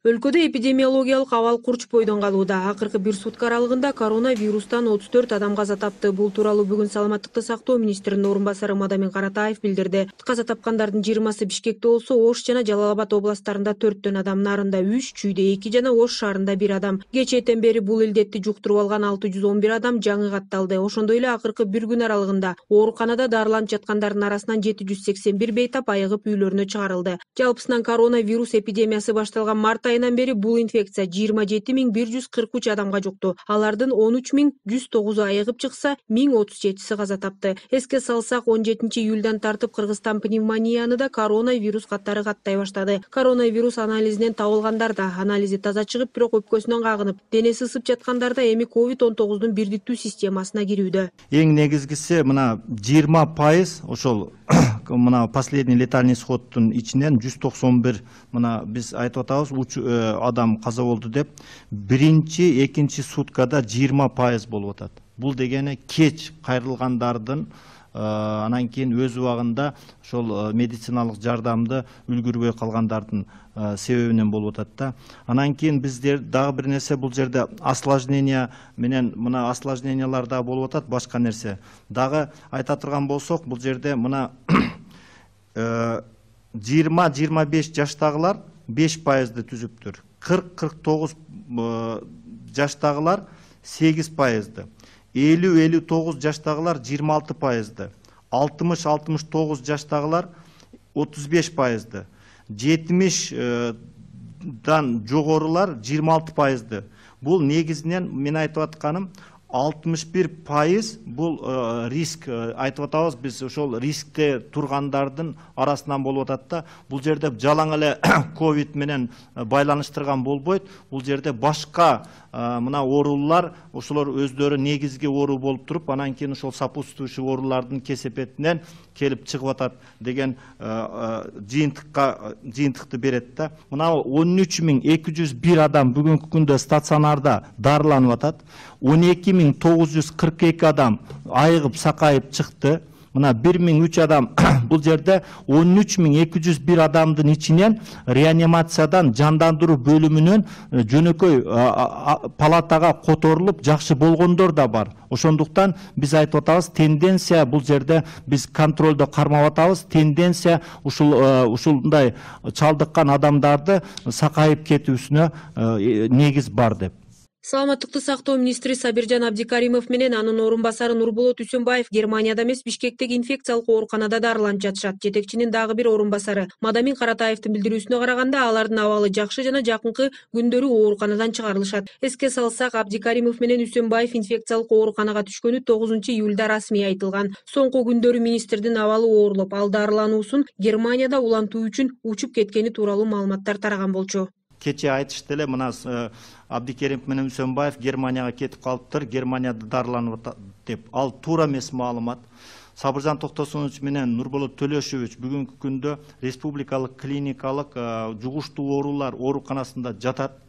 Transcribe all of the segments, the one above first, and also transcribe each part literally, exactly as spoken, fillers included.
Өлкөдө эпидемиологиялык абал курч бойдон калууда. Акыркы бир сутка аралыгында коронавирустан отуз төрт адам каза тапты. Бул тууралуу бүгүн Саламаттыкты сактоо министринин орун басары Мадамин Каратаев билдирди. Каза тапкандардын жыйырмасы Бишкекте болсо, Ош жана Жалал Абад областтарында төрттөн адам, Нарында үч, Чүйдө эки жана Ош шаарында бир адам. Кечээден бери бул илдетти жуктуруп алган алты жүз он бир адам жаңы катталды. Ошондой эле акыркы бир күн аралыгында ооруканада дарыланып жаткандардын арасынан жети жүз сексен бир бейтап айыгып үйлөрүнө чыгарылды. Жалпысынан коронавирус эпидемиясы башталган март айынан бери бул инфекция жыйырма жети миң бир жүз кырк үч адамга жукту. Алардын он үч миң жүз тогузу айыгып чыкса, миң отуз жетиси каза тапты. Эске салсак, он жетинчи июлдан тартып Кыргызстан пневмонияны да коронавирус катары каттай баштады. Коронавирус анализинен табылгандар да анализи таза чыгып, бирок өпкөсүнөн кагынып, денеси ысып жаткандарда эми ковид он тогуздун бирдиктүү системасына кирүүдө. Эң негизгиси мына жыйырма пайыз ошол мына последний летальный исходтун ичинен жүз токсон бир мына биз айтып атабыз уч адам каза болду деп. Биринчи, экинчи суткада жыйырма пайыз болуп атат. Бул дегени кеч кайрылгандардын анан кийин өз убагында ошол медициналык жардамды үлгүрбөй калгандардын себебинен болуп атат да. Анан кийин биздер дагы бир нерсе, бул жерде осложнение менен мына осложнениялар да болуп атат, башка нерсе. Дагы айта турган болсок, бул жерде мына жыйырма жыйырма беш жаштагылар беш пайызды түзүптүр. кырк кырк тогуз жаштагылар сегиз пайызды. элүү элүү тогуз жаштагылар жыйырма алты пайызды. алтымыш алтымыш тогуз жаштагылар отуз беш пайызды. жетимиш дан жогорулар жыйырма алты пайызды. Бул негизинен мен айтып атканым алтымыш бир пайыз бул риск, айтып атабыз биз ошол рискте тургандардын арасынан болуп атат да. Бул жерде жалаң эле ковид менен байланыштырган болбойт. Бул жерде башка мына оорулар, ошолор өздөрү негизги оору болуп туруп, анан кийин ошол сопутствующий оорулардын кесепетинен келип чыгып атат деген жыйынтыкка жыйынтыкты берет да. Мына он үч миң эки жүз бир адам бүгүнкү күндө стационарда дарыланып атат. он эки миң тогуз жүз кырк эки адам айыгып сакайып чыкты. Мына бир миң үч адам бул жерде он үч миң эки жүз бир адамдын ичинен реанимациядан жандандыруу бөлүмүнөн жөнөкөй палатага которулуп жакшы болгондор да бар. Ошондуктан биз айтып атабыз, тенденция бул жерде биз контролдо кармап атабыз. Тенденция ушул ушундай чалдыккан адамдарды сакайып кетүүсүнө негиз бар деп. Саламаттыкты сактоо министри Сабиржан Абдикаримов менен анын орун басары Нурболот Үсөнбаев Германияда эмес, Бишкектеги инфекциялык ооруканада дарыланып жатышат. Жетекчинин дагы бир орун басары Мадамин Каратаевдин билдирүүсүнө караганда, алардын абалы жакшы жана жакынкы күндөрү ооруканадан чыгарылышат. Эске салсак, Абдикаримов менен Үсөнбаев инфекциялык ооруканага түшкөнү тогузунчу июлда расмий айтылган. Соңку күндөрү министрдин абалы оорлоп, ал дарылануусун Германияда улантуу үчүн учуп кеткени тууралуу маалыматтар тараган болчу. Кече айтышты эле, мына Абдикеримов менен Үсөнбаев Германияга кетип калыптыр, Германияда дарыланып атат деп. Ал туура эмес маалымат. Сабыржан Токтосунович менен Нурболот Төлөшович бүгүнкү күндө республикалык клиникалык жугуштуу оорулар ооруканасында жатат.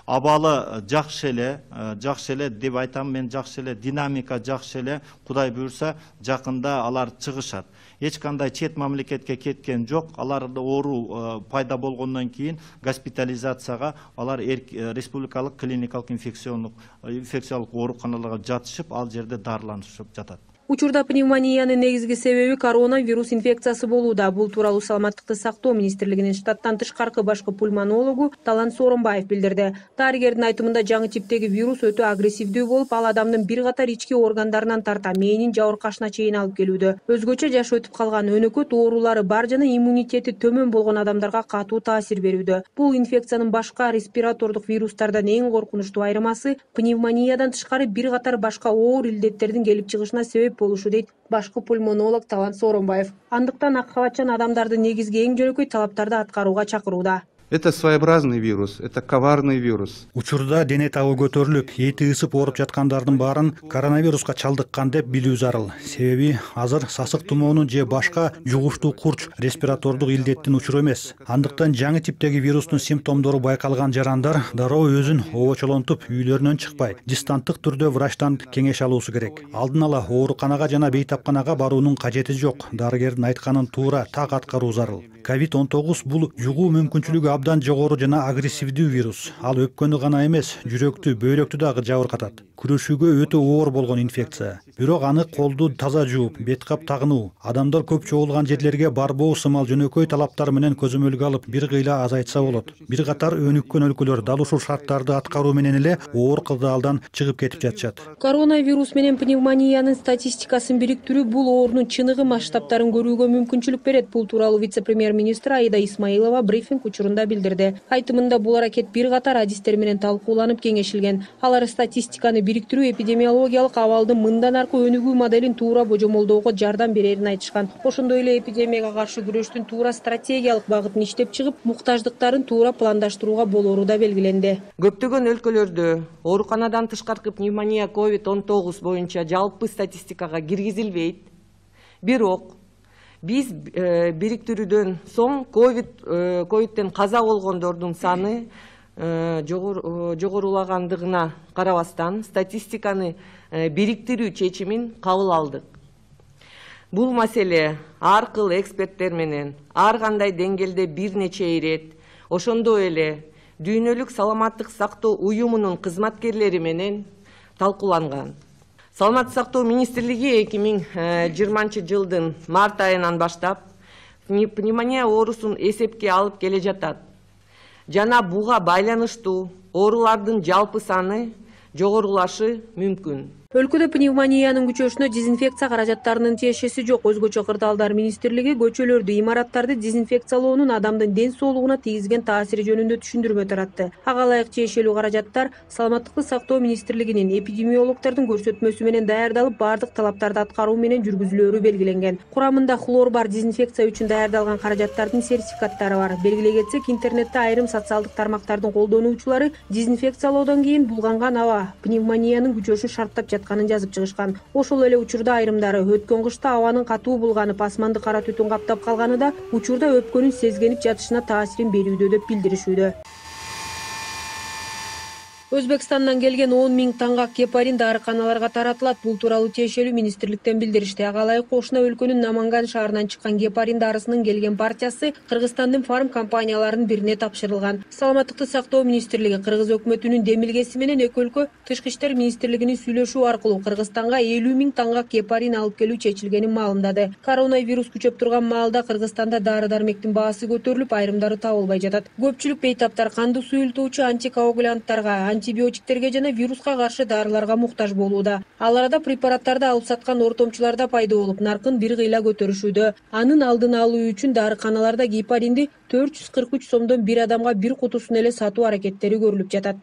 Абалы жакшы эле, жакшы эле деп айтам мен, жакшы эле, динамика жакшы эле. Кудай буйрса, жакында алар чыгышат. Эч кандай чет мамлекетке кеткен жок. Аларда оору пайда болгондон кийин госпитализацияга алар республикалык клиникалык инфекциондук инфекциялык ооруканаларга жатышып, ал жерде дарыланышып жатат. Учурда пневмониянын негизги себеби коронавирус инфекциясы болууда. Бул тууралуу Саламаттыкты сактоо министрлигинин штаттан тышкаркы башкы пульмонологу Талант Сооронбаев билдирди. Дарыгердин айтымында, жаңы типтеги вирус өтө агрессивдүү болуп, ал адамдын бир катар ички органдарынан тарта мээнин жабыркашына чейин алып келүүдө. Өзгөчө жаш өтүп калган, өнөкөт оорулары бар жана иммунитети төмөн болгон адамдарга катуу таасир берүүдө. Бул инфекциянын башка респиратордук вирустардан эң коркунучтуу айырмасы пневмониядан тышкары бир катар башка оор илдеттердин келип чыгышына себеп болушу, дейт башкы пульмонолог Талант Сооронбаев. Андыктан ак калачан адамдарды негизги эң жөнөкөй талаптарды аткарууга чакырууда. Это своеобразный вирус, это коварный вирус. Учурда дене табы көтөрүлүп, эти ысып ооруп жаткандардын баарын коронавируска чалдыккан деп билүү зарыл. Себеби азыр сасык тумоонун же башка жугуштуу курч респиратордук илдеттин учуру эмес. Андыктан жаңы типтеги вирустун симптомдору байкалган жарандар дароо өзүн обочолонтуп, үйлөрүнөн чыкпай, дистанттык түрдө врачтан кеңеш алуусу керек. Алдын ала ооруканага жана бейтапканага баруунун кажети жок. Дарыгердин айтканын туура так аткаруу зарыл. ковид он тогуз бул жугуу мүмкүнчүлүгү абдан жогору жана агрессивдүү вирус. Ал өпкөнү гана эмес, жүрөктү, бөйрөктү дагы жабыркатат. Күрөшүүгө өтө оор болгон инфекция. Бирок аны колду таза жууп, бет кап тагынуу, адамдар көп чогулган жерлерге барбоо сымал жөнөкөй талаптар менен көзөмөлгө алып бир кыйла азайтса болот. Бир катар өнүккөн өлкөлөр дал ушул шарттарды аткаруу менен эле оор кырдаалдан чыгып кетип жатышат. Коронавирус менен пневмониянын статистикасын бириктирүү бул оорунун чыныгы масштабтарын көрүүгө мүмкүнчүлүк берет. Бул тууралуу вице-премьер-министр Аида Исмаилова брифинг учурунда билдирди. Айтымында бул аракет бир катар адистер менен талкууланып кеңешилген. Алар статистиканы бириктирүү эпидемиологиялык абалдын мындан аркы өнүгүү моделин туура божомолдоого жардам берерин айтышкан. Ошондой эле эпидемияга каршы күрөштүн туура стратегиялык багытын иштеп чыгып, муктаждыктарын туура пландаштырууга болору да белгиленди. Көптөгөн өлкөлөрдө ооруканадан тышкаркы пневмония ковид он тогуз боюнча жалпы статистикага киргизилбейт. Бирок биз бириктирүүдөн соң ковид ковидтен каза болгондордун саны жогорулагандыгына карабастан статистиканы бириктирүү чечимин кабыл алдык. Бул маселе ар кыл эксперттер менен ар кандай деңгээлде бир нече ирет, ошондой эле Дүйнөлүк саламаттык сактоо уюмунун кызматкерлери менен талкууланган. Саламаттык сактоо министрлиги эки миң жыйырманчы жылдын март айынан баштап пневмония оорусун эсепке алып келе жатат. Жана буга байланыштуу оорулардын жалпы саны жогорулашы мүмкүн. Өлкөдө пневмониянын күчөшүнө дезинфекция каражаттарынын тиешеси жок. Өзгөчө Кырдаалдар министрлиги көчөлөрдү, имараттарды дезинфекциялоонун адамдын ден соолугуна тийгизген таасири жөнүндө түшүндүрмө таратты. Ага ылайык тиешелүү каражаттар Саламаттыкты сактоо министрлигинин эпидемиологдордун көрсөтмөсү менен даярдалып, бардык талаптарды аткаруу менен жүргүзүлөөрү белгиленген. Курамында хлор бар дезинфекция үчүн даярдалган каражаттардын сертификаттары бар. Белгилей кетсек, интернетте айрым социалдык тармактардын колдонуучулары дезинфекциялоодон кийин булганган аба пневмониянын күчөшүн шарттап жатканын жазып чыгышкан. Ошол эле учурда айрымдары өткөн кышта абанын катуу булганып, асманды кара түтүн каптап калганы да учурда өпкөнүн сезгенип жатышына таасирин берүүдө деп билдиришүүдө. Өзбекстандан келген он миң таңгак гепарин дарыканаларга таратылат. Бул тууралуу тиешелүү министрликтен билдиришти. Ага ылайык кошуна өлкөнүн Наманган шаарынан чыккан гепарин дарысынын келген партиясы Кыргызстандын фарм компанияларынын бирине тапшырылган. Саламаттыкты сактоо министрлиги Кыргыз өкмөтүнүн демилгеси менен эки өлкө Тышкы иштер министрлигинин сүйлөшүү аркылуу Кыргызстанга элүү миң таңгак гепарин алып келүү чечилгенин маалымдады. Коронавирус күчөп турган маалда Кыргызстанда дары-дармектин баасы көтөрүлүп, айрымдары табылбай жатат. Көпчүлүк бейтаптар канды суюлтуучу антикоагулянттарга, антибиотиктерге жана вируска каршы дарыларга муктаж болууда. Ал арада препараттарды алып саткан ортомчулар да пайда болуп, наркын бир кыйла көтөрүшүүдө. Анын алдын алуу үчүн дарыканаларда гепаринди төрт жүз кырк үч сомдон бир адамга бир кутусун эле сатуу аракеттери көрүлүп жатат.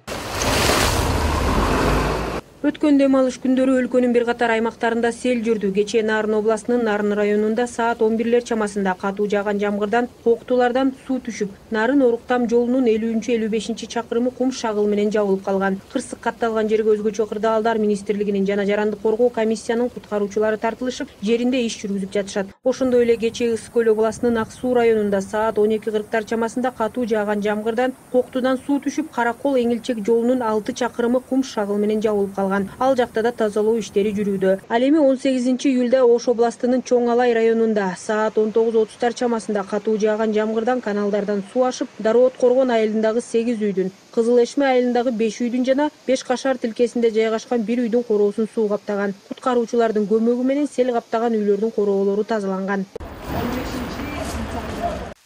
Өткөн дем алыш күндөрү өлкөнүн бир катар аймактарында сел жүрдү. Кечээ Нарын областынын Нарын районунда саат он бирлер чамасында катуу жааган жамгырдан коктулардан суу түшүп, Нарын Оруктам жолунун элүүнчү элүү бешинчи чакырымы кум шагыл менен жабылып калган. Кырсык катталган жерге өзгөчө Кырдаалдар министрлигинин жана жарандык коргоо комиссиянын куткаруучулары тартылышып, жеринде иш жүргүзүп жатышат. Ошондой эле кечээ Ысык көл областынын Ак Суу районунда саат он эки кырктар чамасында катуу жааган жамгырдан коктудан суу түшүп, Каракол Эңилчек жолунун алты чакырымы кум шагыл менен жабылып калган. Ал жакта да тазалоо иштери жүрүүдө. Ал эми он сегизинчи июлда Ош областынын Чоң Алай районунда саат он тогуз отуздар чамасында катуу жааган жамгырдан каналдардан суу ашып, Дароот Коргон айылындагы сегиз үйдүн, Кызыл Эшме айылындагы беш үйдүн жана Беш Кашар тилкесинде жайгашкан бир үйдүн короосун суу каптаган. Куткаруучулардын көмөгү менен сел каптаган үйлөрдүн короолору тазаланган.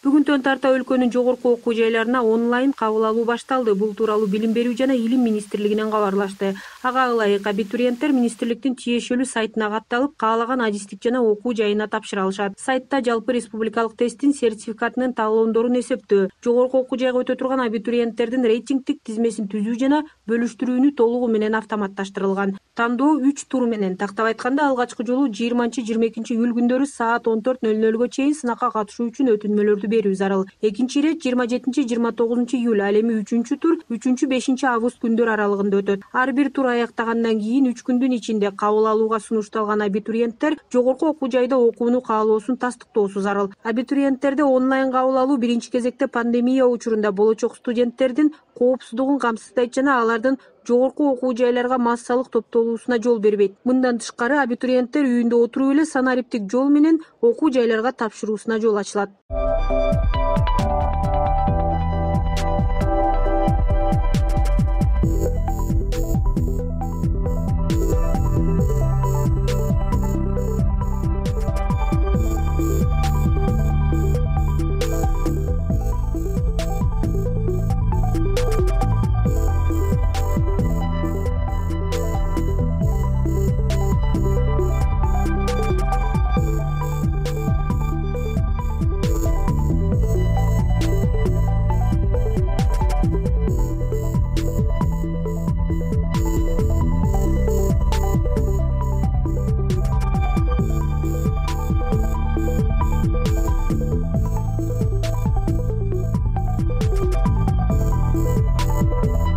Бүгүнтөн тарта өлкөнүн жогорку окуу жайларына онлайн кабыл алуу башталды. Бул тууралуу Билим берүү жана Илим министрлигинен кабарлашты. Ага ылайык абитуриенттер министрликтин тиешелүү сайтына катталып, каалаган адистик жана окуу жайына тапшыра алышат. Сайтта жалпы республикалык тесттин сертификатынын талоондорун эсептөө, жогорку окуу жайга өтө турган абитуриенттердин рейтингдик тизмесин түзүү жана бөлүштүрүүнү толугу менен автоматташтырылган. Тандоо үч тур менен, тактап айтканда алгачкы жолу жыйырманчы жыйырма экинчи июль күндөрү саат он төрт нөл нөлгө чейин сынакка катышуу үчүн өтүнмөлөрдү берүү зарыл. Экинчи ирет жыйырма жетинчи жыйырма тогузунчу июль, ал эми үчүнчү тур үчүнчү бешинчи август күндөр аралыгында өтөт. Ар бир тур аяктагандан кийин үч күндүн ичинде кабыл алууга сунушталган абитуриенттер жогорку окуу жайда окууну каалоосун тастыктоосу зарыл. Абитуриенттерде онлайн кабыл алуу биринчи кезекте пандемия учурунда болочок студенттердин коопсуздугун камсыздайт жана алардын жогорку окуу жайларга массалык топтолуусуна жол бербейт. Мындан тышкары, абитуриенттер үйүндө отуруп эле санариптик жол менен окуу жайларга тапшыруусуна жол ачылат. Thank you.